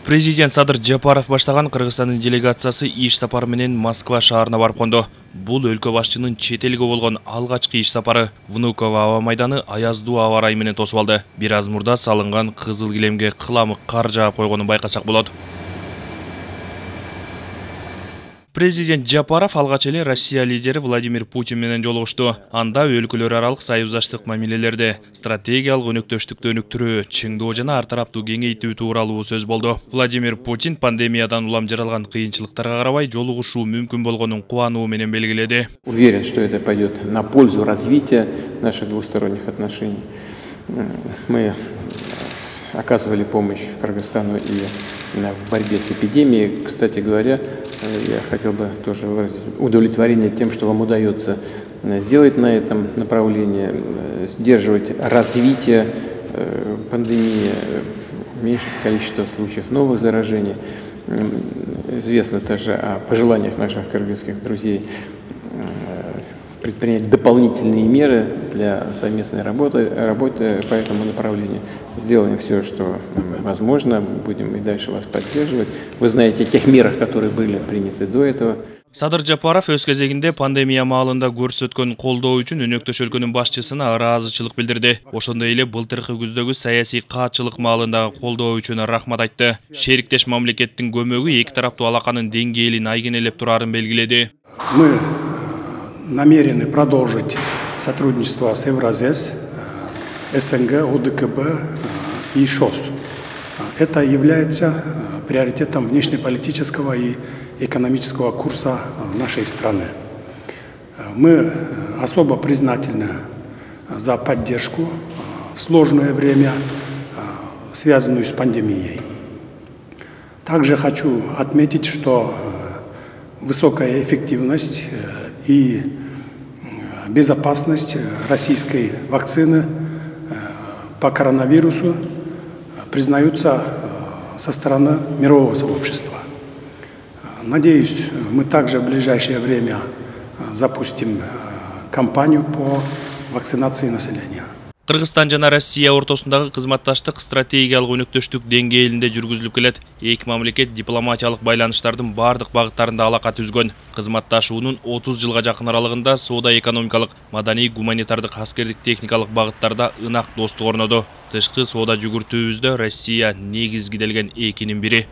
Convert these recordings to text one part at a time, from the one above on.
Президент Садыр Жапаров баштаган Кыргызстандын делегациясы иш сапары менен Москва шаарына барып конду. Бул өлкө башчынын чет элге болгон алгачкы иш сапары. Внуково аба майданы аяздуу аба ырайы менен тосуп алды. Бир аз мурда салынган кызыл килемге кыламык кар жаап койгонун байкасак болот. Президент Жапаров алгач эле Россия лидери Владимир Путин менен жолугушту. Анда өлкөлөр аралык союздаштык мамилелерди, стратегиялык өнөктөштүктү өнүктүрүү, чыңдоо жана ар тараптуу кеңейтүү тууралуу сөз болду. Владимир Путин пандемиядан улам жаралган кыйынчылыктарга карабай жолугушуу мүмкүн болгонун кубануу менен белгиледи. Уверен, что это пойдет на пользу развития наших двусторонних отношений. Мы оказывали помощь Кыргызстану и в борьбе с эпидемией. Кстати говоря, я хотел бы тоже выразить удовлетворение тем, что вам удается сделать на этом направлении, сдерживать развитие пандемии, уменьшить количество случаев новых заражений. Известно также о пожеланиях наших кыргызских друзей предпринять дополнительные меры для совместной работы по этому направлению. Сделаем все, что возможно, будем и дальше вас поддерживать. Вы знаете о тех мерах, которые были приняты до этого. Садыр Жапаров өз кезегинде пандемия маалында көрсөткөн колдоо үчүн өнөктөш өлкөнүн башчысына ыраазычылык билдирди. Ошондой эле былтыркы күздөгү саясий каатчылык маалындагы колдоо үчүн рахмат айтты. Шериктеш мамлекеттин көмөгү эки тараптуу алаканын деңгээлин айгинелеп турарын белгиледи. Мы намерены продолжить сотрудничество с Евразес, СНГ, ОДКБ и ШОС. Это является приоритетом внешнеполитического и экономического курса нашей страны. Мы особо признательны за поддержку в сложное время, связанную с пандемией. Также хочу отметить, что высокая эффективность и безопасность российской вакцины по коронавирусу признаются со стороны мирового сообщества. Надеюсь, мы также в ближайшее время запустим кампанию по вакцинации населения. Кыргызстан жана Россия ортосундагы кызматташтык стратегиялык өнөктөштүк деңгээлинде жүргүзүлүп келет. Эки мамлекет дипломатиялык байланыштардын бардык багыттарында алака түзгөн. Кызматташуунун 30 жылга жакын аралыгында соода экономикалык, маданий, гуманитардык, аскердик, техникалык багыттарда ынак достук орноду. Тышкы соода жүгүртүүбүздө Россия негизгиделген экинин бири.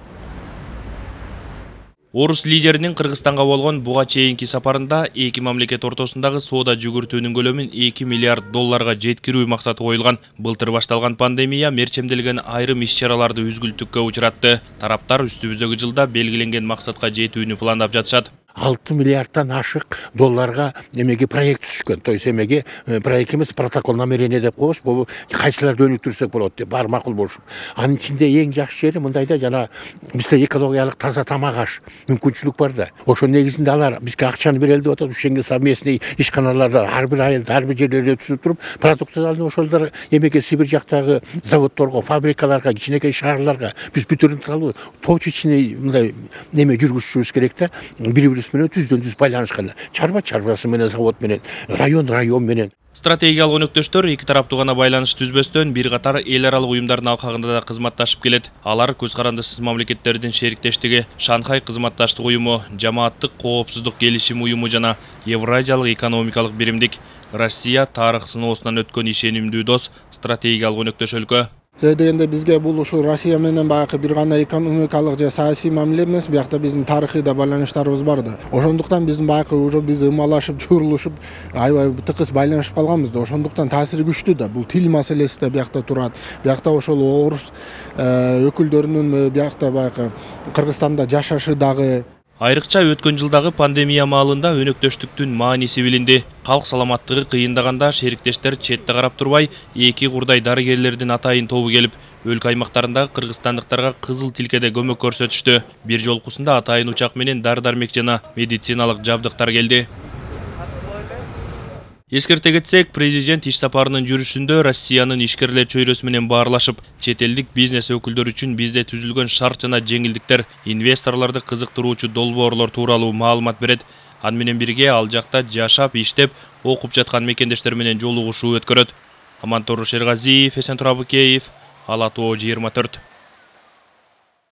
Орус лидеринин Кыргызстанга болгон буга чейинки сапарында эки мамлекет ортосундагы соода жүгүртүүнүн көлөмүн 2 миллиард долларга жеткирүү максаты коюлган. Былтыр башталган пандемия мерчемделген айрым иш-чараларды үзгүлтүккө учуратты. Тараптар үстүбүздөгү жылда белгиленген максатка жетүүнү пландап жатышат. 6 миллиардтан ашык долларга эмеге проект түшкөн. То есть эмеге проект эмес, протокол намерение деп коебуз. Бул кайсыларды өнүктүрсөк болот деп бар макул болушу. Анын ичинде эң жакшы жери мындайда жана бизде экологиялык таза тамак аш мүмкүнчүлүк бар да. Ошо негизинде алар бизге акчаны берели деп атат. Ушенге совместный ишканаларда ар бир айылда, ар бир жерлерде түзүп туруп, продуктарды ошолор эмеге Сибирь жактагы заводдорго, фабрикаларга, кичинекей шаарларга биз бүтүрүп алып, точечный мындай эме жүргүзүшүбүз керек да. Бири-бири менен түздөн-түз байланышкан. Чарбасы менен, завод менен, район менен. Стратегиялык өнөктөштөр эки тараптуу гана байланыш түзбөстөн бир катар эл аралык уюмдардын алкагында да кызматташып келет. Алар көз карандысыз мамлекеттердин шериктештиги, Шанхай кызматташтык уюму, Жамааттык коопсуздук келишим уюму жана Евразиялык экономикалык биримдик. Россия тарых сыноосунан өткөн ишенимдүү дос, стратегиялык өнөктөш өлкө. Дегенде бизге бул ушу Россия менен баягы бир гана экономикалык же саясий мамиле эмес, биякта биздин тарыхый да байланыштарыбыз бар да. Ошондуктан биздин баягы уже биз ымалашып, чурулушуп, аябай тыкыз байланышып калганбыз да. Ошондуктан таасири күчтүү да. Бул тил маселеси да биякта турат. Биякта ошол орус өкүлдөрүнүн биякта баягы Кыргызстанда жашашы дагы. Айрыкча өткөн жылдагы пандемия маалында өнөктөштүктүн мааниси билинди. Калк саламаттыгы кыйындаганда шериктештер четте карап турбай, эки курдай дарыгерлердин атайын тобу келип, өлкө аймактарындагы кыргызстандыктарга кызыл тилкеде көмөк көрсөтүштү. Бир жолкусунда атайын учак менен дары-дармек жана медициналык жабдыктар келди. Эскерте кетсек, президент иш сапарынын жүрүшүндө Россиянын ишкерлер чөйрөсү менен баарлашып, чет элдик бизнес өкүлдөрү үчүн бизде түзүлгөн шарт жана жеңилдиктер, инвесторлорду кызыктыруучу долбоорлор тууралуу маалымат берет. Аны менен бирге ал жакта жашап, иштеп, окуп жаткан мекендештер менен жолугушуу өткөрөт. Амантор Шергазиев, Эсен Турабыкеев, Ала Тоо 24.